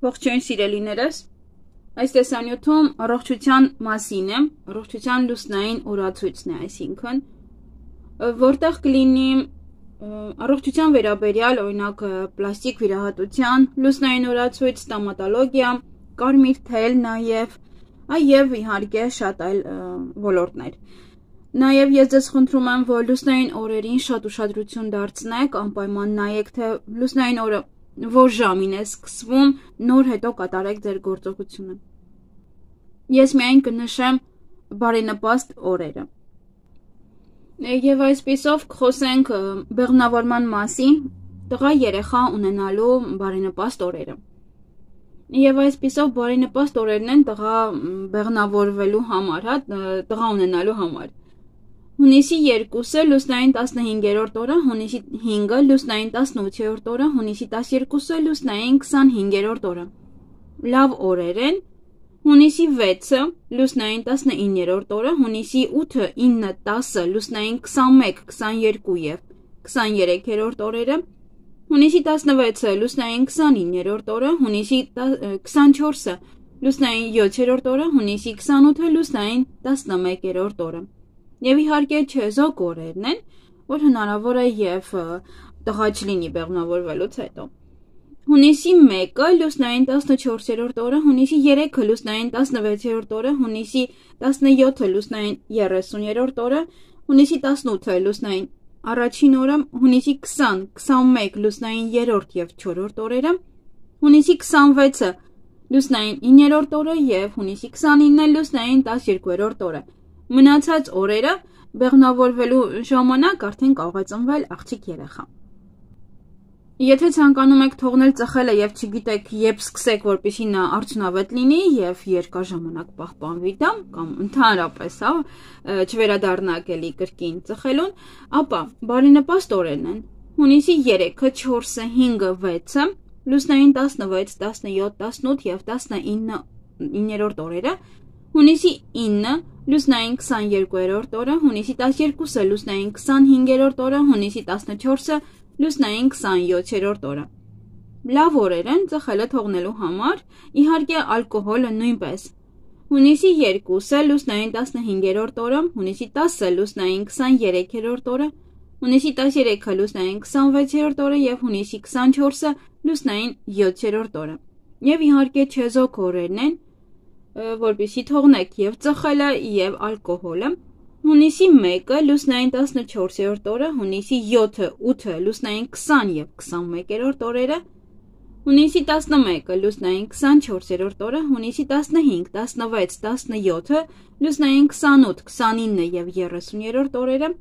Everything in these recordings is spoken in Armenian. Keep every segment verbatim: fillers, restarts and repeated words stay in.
Ողջույն սիրելիներս, այս տեսանյութում առողջության մասին է, առողջության լուսնային օրացույցն է, այսինքն, որտեղ կլինի առողջության վերաբերյալ, օրինակ պլաստիկ վիրահատության, լուսնային օրացույց, ստոմատոլոգիա, կարմիր թել, նաև, այև իհարկե շատ այլ ոլորտներ։ Նաև ես ձեզ խնդրում եմ, որ լուսնային օրերին շատ ուշադրություն դարձնեք, անպայման նայեք, թե լուսնային օրը որ ժամին է սկսվում, նոր հետո կատարեք ձեր գործողությունը։ Ես միայն կնշեմ բարենպաստ օրերը։ Եվ այսպիսով կխոսենք բեղմնավորման մասին, տղա երեխա ունենալու բարենպաստ օրերը։ Եվ այսպիսով բարենպաստ օրերն են տղա բեղմնավորվելու համար, հա, տղա ունենալու համար։ Հունիսի երկուսը լուսնային տասնհինգերորդ օրը, հունիսի հինգը լուսնային տասնութերորդ օրը, հունիսի տասներկուսը լուսնային քսանհինգերորդ օրը։ Լավ օրեր են։ Հունիսի վեցը լուսնային տասնիններորդ օրը, հունիսի ութը, ինը, տասը լուսնային քսանմեկ, քսաներկու և քսաներեքերորդ օրերը, հունիսի տասնվեցը լուսնային քսանիններորդ օրը, հունիսի քսանչորսը լուսնային յոթերորդ օրը, հունիսի քսանութը լուսնային տասնմեկերորդ օրը։ Եվ իհարկե չեզոք օրերն են, որ հնարավոր է և տղա չլինի բեղմնավորվելուց հետո։ Հունիսի մեկը լուսնային տասնչորսերորդ օրը, հունիսի երեքը լուսնային տասնվեցերորդ օրը, հունիսի տասնյոթը լուսնային երեսուներորդ օրը, հունիսի տասնութը լուսնային առաջին օրը, հունիսի քսան, քսանմեկ լուսնային երրորդ և չորրորդ օրերը, հունիսի քսանվեցը լուսնային իններորդ օրը և հունիսի քսանինը լուսնային տասներկուերորդ օրը։ Մնացած օրերը բեղմնավորվելու ժամանակ արդեն կարող է ծնվել աղջիկ երեխա։ Եթե ցանկանում եք թողնել ծխելը եւ չգիտեք երբ սկսեք, որպեսզի նա արդյունավետ լինի եւ երկար ժամանակ պահպանվի դա, կամ ընդհանրապես, հա, չվերադառնաք էլի կրկին ծխելուն, ապա բարենպաստ օրերն են։ Հունիսի երեքը, չորսը, հինգը, վեցը, լուսնային տասնվեց, տասնյոթ, տասնութ եւ տասնիններորդ օրերը, հունիսի ինը լուսնային քսաներկուերորդ օրը, հունիսի տասներկուսը լուսնային քսանհինգերորդ օրը, հունիսի տասնչորսը լուսնային քսանյոթերորդ օրը։ Լավ օրեր են ծխելը թողնելու համար, իհարկե ալկոհոլը նույնպես։ Հունիսի երկուսը լուսնային տասնհինգերորդ օրը, հունիսի տասը լուսնային քսաներեքերորդ օրը, հունիսի տասներեքը լուսնային քսանվեցերորդ օրը և հունիսի քսանչորսը լուսնային յոթերորդ օրը։ Եվ իհարկե չեզոք օրերն են, որպեսզի թողնեք և ծխելը և ալկոհոլը։ Հունիսի մեկը լուսնային տասնչորսերորդ օրը, հունիսի յոթը, ութը լուսնային քսան և քսանմեկերորդ օրերը, հունիսի տասնմեկը լուսնային քսանչորսերորդ օրը, հունիսի տասնհինգ, տասնվեց, տասնյոթը լուսնային քսանութ, քսանինը և երեսուներորդ օրերը,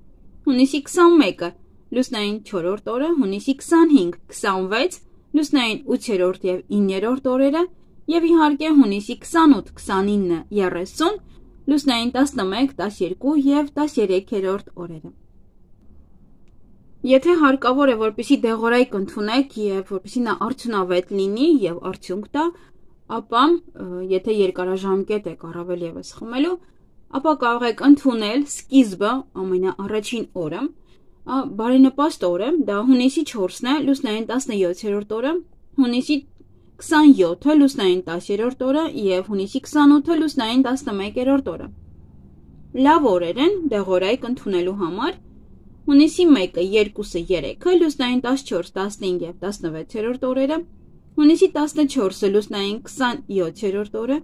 հունիսի քսանմեկը լուսնային չորրորդ օրը, հունիսի քսանհինգ, քսանվեց լուսնային ութերորդ և իններորդ օրերը և իհարկե հունիսի քսանութ, քսանինը, երեսուն լուսնային տասնմեկ, տասներկու և տասներեքերորդ օրերը։ Եթե հարկավոր է, որպեսզի դեղորայք ընդունեք և որպեսզի նա արդյունավետ լինի և արդյունք տա, ապա եթե երկարաժամկետ եք առավել ևս խմելու, ապա կարող եք ընդունել սկիզբը ամենաառաջին օրը, բարենպաստ օրը, դա հունիսի չորսն է, լուսնային տասնյոթերորդ օրը, հունիսի քսանյոթը լուսնային տասերորդ օրը և հունիսի քսանութը լուսնային տասնմեկերորդ օրը։ Լավ օրեր են դեղորայք ընդունելու համար։ Հունիսի մեկը, երկուսը, երեքը լուսնային տասնչորս, տասնհինգ և տասնվեցերորդ օրերը, հունիսի տասնչորսը լուսնային քսանյոթերորդ օրը,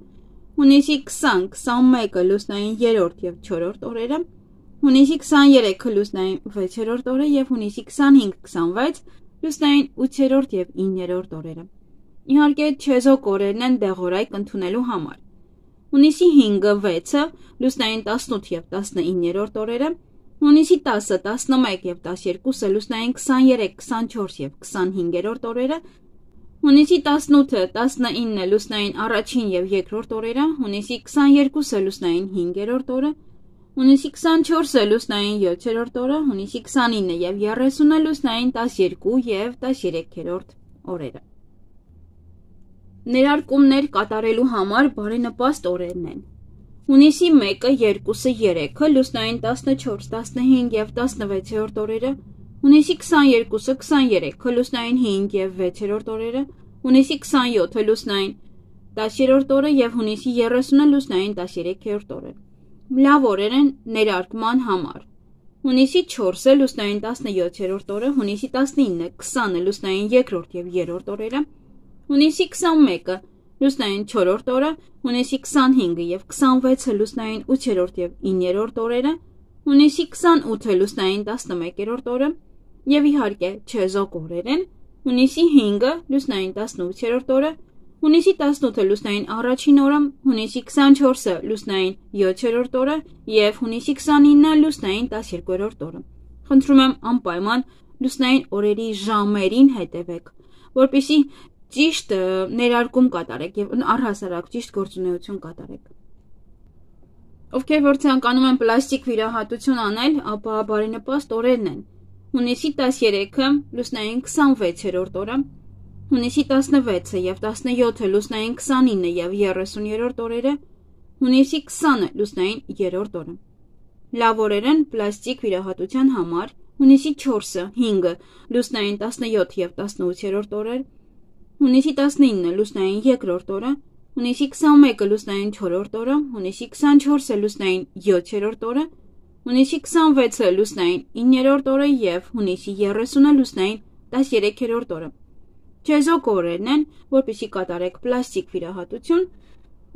հունիսի քսան, քսանմեկը լուսնային երրորդ և չորրորդ օրերը, հունիսի քսաներեքը լուսնային վեցերորդ օրը և հունիսի քսանհինգ, քսանվեց լուսնային ութերորդ և իններորդ օրերը։ Իհարկե չեզոք օրերն են դեղորայք ընդունելու համար։ Հունիսի հինգը, վեցը լուսնային տասնութ և տասնիններորդ օրերը, հունիսի տասը, տասնմեկ և տասներկուսը լուսնային քսաներեք, քսանչորս և քսանհինգերորդ օրերը, հունիսի տասնութը, տասնինը լուսնային առաջին և երկրորդ օրերը, հունիսի քսաներկուսը լուսնային հինգերորդ օրը, հունիսի քսանչորսը լուսնային յոթերորդ օրը, հունիսի քսանինը և երեսունը լուսնային տասներկու և տասներեքերորդ օրերը։ Ներարկումներ կատարելու համար բարենպաստ օրերն են։ Հունիսի մեկը, երկուսը, երեքը լուսնային տասնչորս, տասնհինգ և տասնվեցերորդ օրերը, հունիսի քսաներկուսը, քսաներեքը լուսնային հինգ և վեցերորդ օրերը, հունիսի քսանյոթը լուսնային տասներորդ օրը եւ հունիսի երեսունը լուսնային տասներեքերորդ օրը։ Լավ օրեր են ներարկման համար։ Հունիսի չորսը լուսնային տասնյոթերորդ օրը, հունիսի տասնինը, քսանը լուսնային երկրորդ եւ երրորդ օրերը, հունիսի քսանմեկը լուսնային չորրորդ օրը, հունիսի քսանհինգը եւ քսանվեցը լուսնային ութերորդ եւ իններորդ օրերը, հունիսի քսանութը լուսնային տասնմեկերորդ օրը եւ իհարկե չեզոք օրեր են, հունիսի հինգը լուսնային տասնութերորդ օրը, հունիսի տասնութը լուսնային առաջին օրը, հունիսի քսանչորսը լուսնային յոթերորդ օրը եւ հունիսի քսանինը լուսնային տասներկուերորդ օրը։ Խնդրում եմ անպայման լուսնային օրերի ժամերին հետևեք, որպեսզի ճիշտ ներարկում կատարեք եւ առհասարակ ճիշտ գործունեություն կատարեք։ Ովքեր որ ցանկանում են պլաստիկ վիրահատություն անել, ապա բարենպաստ օրերն են։ Հունիսի տասներեքը լուսնային քսանվեցերորդ օրը, հունիսի տասնվեցը եւ տասնյոթը լուսնային քսանինը եւ երեսուներորդ օրերը, հունիսի քսանը լուսնային երրորդ օրը։ Լավ օրեր են պլաստիկ վիրահատության համար, հունիսի չորսը, հինգը լուսնային տասնյոթ եւ տասնութերորդ օրեր, հունիսի տասնինը լուսնային երկրորդ օրը, հունիսի քսանմեկը լուսնային չորրորդ օրը, հունիսի քսանչորսը լուսնային յոթերորդ օրը, հունիսի քսանվեցը լուսնային իններորդ օրը եւ հունիսի երեսունը լուսնային տասներեքերորդ օրը։ Չեզոք օրերն են, որպեսզի կատարեք պլաստիկ վիրահատություն,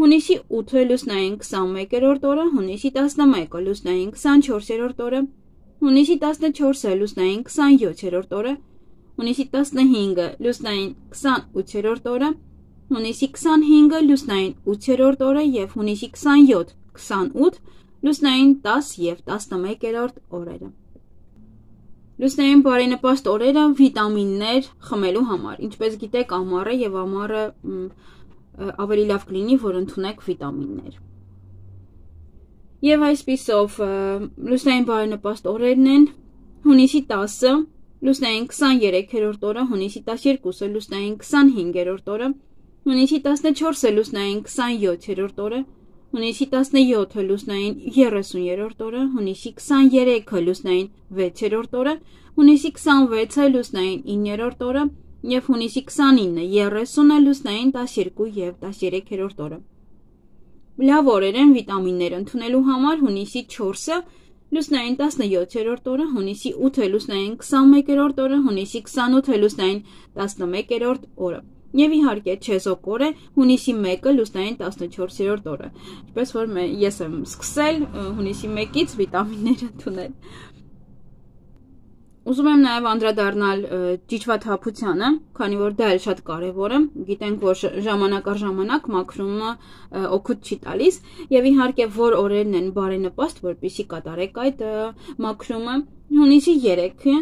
հունիսի ութը լուսնային քսանմեկերորդ օրը, հունիսի տասնմեկը լուսնային քսանչորսերորդ օրը, հունիսի տասնչորսը լուսնային քսանյոթերորդ օրը, հունիսի տասնհինգը լուսնային քսանութերորդ օրը, հունիսի քսանհինգը լուսնային ութերորդ օրը եւ հունիսի քսանյոթ, քսանութ լուսնային տաս եւ տասնմեկերորդ օրերը։ Լուսնային բարենպաստ օրերը վիտամիններ խմելու համար, ինչպես գիտեք, ամառը եւ ամառը ավելի լավ կլինի, որ ընդունեք վիտամիններ։ Եվ այսպիսով լուսնային բարենպաստ օրերն են հունիսի տասը լուսնային քսաներեքերորդ օրը, հունիսի տասներկուսը լուսնային քսանհինգերորդ օրը, հունիսի տասնչորսը լուսնային քսանյոթերորդ օրը, հունիսի տասնյոթը լուսնային երեսուներորդ օրը, հունիսի քսաներեքը լուսնային վեցերորդ օրը, հունիսի քսանվեցը լուսնային իններորդ օրը եւ հունիսի քսանինը, երեսունը լուսնային տասներկու եւ տասներեքերորդ օրը։ Լավ օրեր են վիտամիններ ընդունելու համար հունիսի չորսը լուսնային տասնյոթերորդ օրը, հունիսի ութը լուսնային քսանմեկերորդ օրը, հունիսի քսանութը լուսնային տասնմեկերորդ օրը։ Եվ իհարկե չեզոք օր է հունիսի մեկը լուսնային տասնչորսերորդ օրը։ Ինչպես որ ես եմ սկսել հունիսի մեկից վիտամիններ ընդունել։ Ուզում եմ նաև անդրադառնալ ճիճվաթափությանը, քանի որ դա էլ շատ կարևոր է։ Գիտենք, որ ժամանակ առ ժամանակ մաքրումը օգուտ չի տալիս, եւ իհարկե որ օրերն են բարենպաստ, որպեսզի կատարեք այդ մաքրումը։ Հունիսի երեքը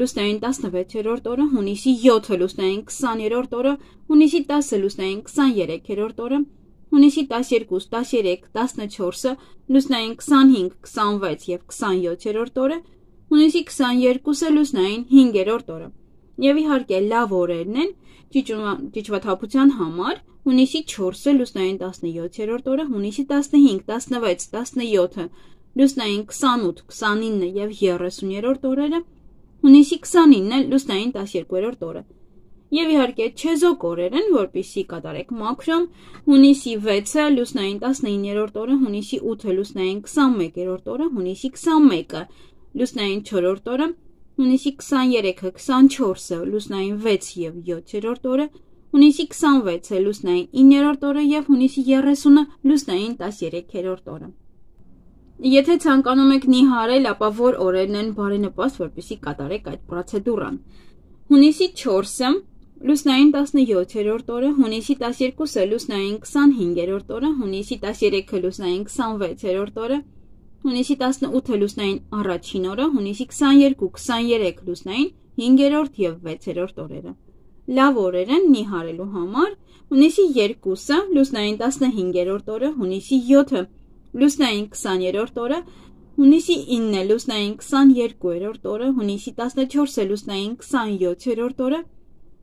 լուսնային տասնվեցերորդ օրը, հունիսի յոթը լուսնային քսաներորդ օրը, հունիսի տասը լուսնային քսաներեքերորդ օրը, հունիսի տասներկուս, տասներեք, տասնչորսը լուսնային քսանհինգ, քսանվեց եւ քսանյոթերորդ օրը, հունիսի քսաներկուսը լուսնային հինգերորդ օրը։ Եվ իհարկե լավ օրերն են ճիճվաթափության համար հունիսի չորսը լուսնային տասնյոթերորդ օրը, հունիսի տասնհինգ, տասնվեց, տասնյոթը լուսնային քսանութ, քսանինը եւ երեսուներորդ օրերը, հունիսի քսանինը լուսնային տասներկուերորդ օրը։ Եվ իհարկե չեզոք օրեր են, որպեսզի կատարեք մաքրում, հունիսի վեցը լուսնային տասնիններորդ օրը, հունիսի ութը լուսնային քսանմեկերորդ օրը, հունիսի քսանմեկը լուսնային չորրորդ օրը, հունիսի քսաներեքը, քսանչորսը լուսնային վեց եւ յոթերորդ օրը, հունիսի քսանվեցը լուսնային իններորդ օրը եւ հունիսի երեսունը լուսնային տասներեքերորդ օրը։ Եթե ցանկանում եք նիհարել, ապա որ օրերն են բարենպաստ, որպեսզի կատարեք այդ պրոցեդուրան։ Հունիսի չորսը լուսնային տասնյոթերորդ օրը, հունիսի տասներկուսը լուսնային քսանհինգերորդ օրը, հունիսի տասներեքը լուսնային քսանվեցերորդ օրը, հունիսի տասնութը լուսնային առաջին օրը, հունիսի քսաներկու, քսաներեք լուսնային հինգերորդ եւ վեցերորդ օրերը։ Լավ օրեր են նիհարելու համար հունիսի երկուսը լուսնային տասնհինգերորդ օրը, հունիսի յոթը լուսնային քսաներորդ օրը, հունիսի ինը լուսնային քսաներկուերորդ օրը, հունիսի տասնչորսը լուսնային քսանյոթերորդ օրը,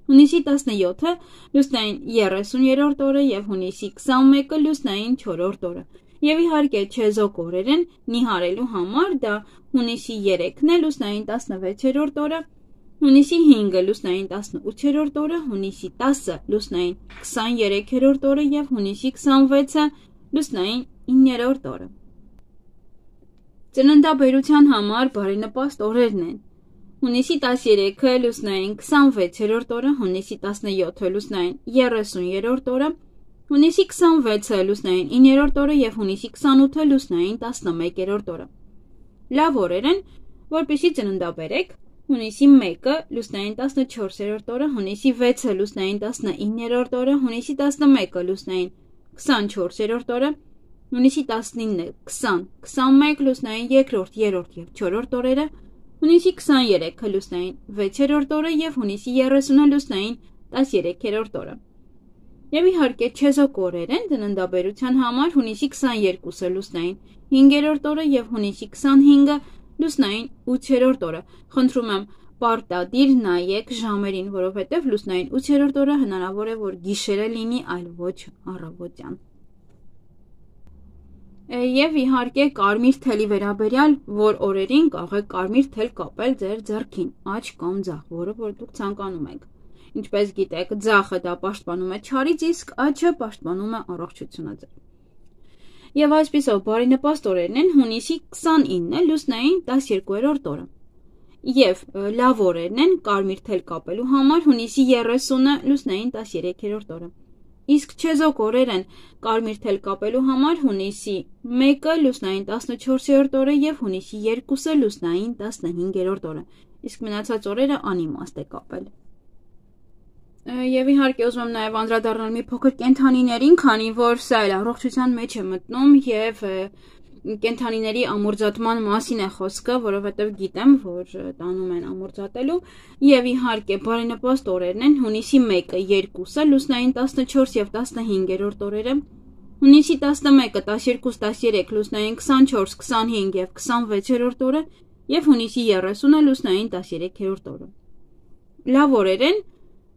հունիսի տասնյոթը լուսնային երեսուներորդ օրը եւ հունիսի քսանմեկը լուսնային չորրորդ օրը։ Եվ իհարկե չեզոք օրեր են նիհարելու համար դա հունիսի երեքն է լուսնային տասնվեցերորդ օրը, հունիսի հինգը լուսնային տասնութերորդ օրը, հունիսի տասը լուսնային քսաներեքերորդ օրը և հունիսի քսանվեցը լուսնային իններորդ օրը։ Ծննդաբերության համար բարենպաստ օրերն են. հունիսի տասներեքը լուսնային քսանվեցերորդ օրը, հունիսի տասնյոթը լուսնային երեսուներորդ օրը, հունիսի քսանվեցը լուսնային իններորդ օրը և հունիսի քսանութը լուսնային տասնմեկերորդ օրը։ Լավ օրեր են, որպեսզի ծննդաբերեք. հունիսի մեկը լուսնային տասնչորսերորդ օրը, հունիսի վեցը լուսնային տասնիններորդ օրը, հունիսի տասնմեկը լուսնային քսանչորսերորդ օրը, հունիսի տասնինը քսան քսանմեկ լուսնային երկրորդ, երրորդ և չորրորդ օրերը, հունիսի քսաներեքը լուսնային վեցերորդ օրը և հունիսի երեսունը լուսնային տասներեքերորդ օրը։ Եվ իհարկե չեզոք օրեր են ծննդաբերության համար հունիսի քսաներկուսը լուսնային հինգերորդ օրը և հունիսի քսանհինգը լուսնային ութերորդ օրը։ Խնդրում եմ պարտադիր նայեք ժամերին, որովհետև լուսնային ութերորդ օրը հնարավոր է, որ գիշերը լինի, այլ ոչ առավոտյան։ Եվ իհարկե կարմիր թելի վերաբերյալ, որ օրերին կարող եք կարմիր թել կապել ձեր ձեռքին, աջ կամ ձախ, որը որ դուք ցանկանում եք։ Ինչպես գիտեք, ձախը դա պաշտպանում է չարից, իսկ աջը պաշտպանում է առողջությունը ձեր։ Եվ այսպիսով բարենպաստ օրերն են հունիսի քսանինը լուսնային տասներկուերորդ օրը։ Եվ լավ օրերն են կարմիր թել կապելու համար հունիսի երեսունը լուսնային տասներեքերորդ օրը։ Իսկ չեզոք օրեր են կարմիր թել կապելու համար հունիսի մեկը լուսնային տասնչորսերորդ օրը և հունիսի երկուսը լուսնային տասնհինգերորդ օրը։ Իսկ մնացած օրերը անիմաստ է կապել։ Եվ իհարկե ուզում եմ նաև անդրադառնալ մի փոքր կենդանիներին, քանի որ սա էլ առողջության մեջ է մտնում և կենդանիների ամորձատման մասին է խոսքը, որովհետև գիտեմ, որ տանում են ամորձատելու, և իհարկե բարենպաստ օրերն են հունիսի մեկը, երկուսը, լուսնային տասնչորս և տասնհինգերորդ օրերը, հունիսի տասնմեկը, տասներկուս, տասներեք, լուսնային քսանչորս, քսանհինգ և քսանվեցերորդ օրը և հունիսի երեսունը լուսնային տասներեքերորդ օրը։ Լավ օրեր են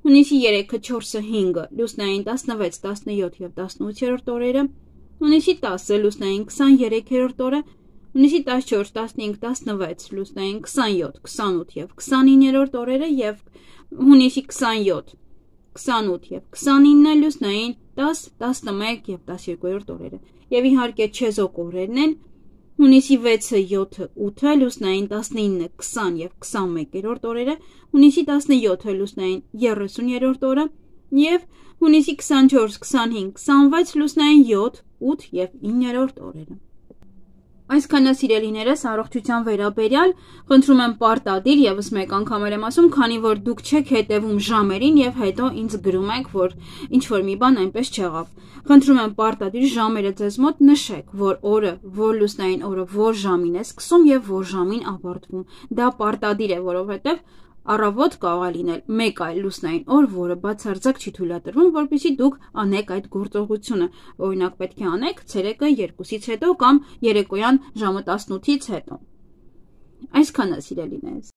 հունիսի երեքը, չորսը, հինգը, լուսնային տասնվեց, տասնյոթ և տասնութերորդ օրերը, հունիսի տասը լուսնային քսաներեքերորդ օրը, հունիսի տասնչորս, տասնհինգ, տասնվեց, լուսնային քսանյոթ, քսանութ և քսանիններորդ օրերը և հունիսի քսանյոթ, քսանութ և քսանինը լուսնային տաս, տասնմեկ և տասներկուերորդ օրերը։ Եվ իհարկե չեզոք օրերն են հունիսի վեցը, յոթը, ութը, լուսնային տասնինը, քսան և քսանմեկերորդ օրերը, հունիսի տասնյոթը լուսնային երեսուներորդ օրը և հունիսի քսանչորս, քսանհինգ, քսանվեց, լուսնային յոթ, ութ և իններորդ օրերը։ Այսքանը սիրելիներս առողջության վերաբերյալ, խնդրում եմ պարտադիր ևս մեկ անգամ եմ ասում, քանի որ դուք չեք հետևում ժամերին և հետո ինձ գրում եք, որ ինչ-որ մի բան այնպես չեղավ։ Խնդրում եմ պարտադիր ժամերը ձեզ մոտ նշեք, որ օրը, որ լուսնային օրը, որ ժամին է սկսում և որ ժամին ավարտվում։ Դա պարտադիր է, որովհետև առավոտ կարող է լինել մեկ այլ լուսնային օր, որը բացարձակ չի թույլատրվում, որպեսզի դուք անեք այդ գործողությունը։ Օրինակ պետք է անեք ցերեկը երկուսից հետո կամ երեկոյան ժամը տասնութից հետո։ Այսքանը սիրելիներս։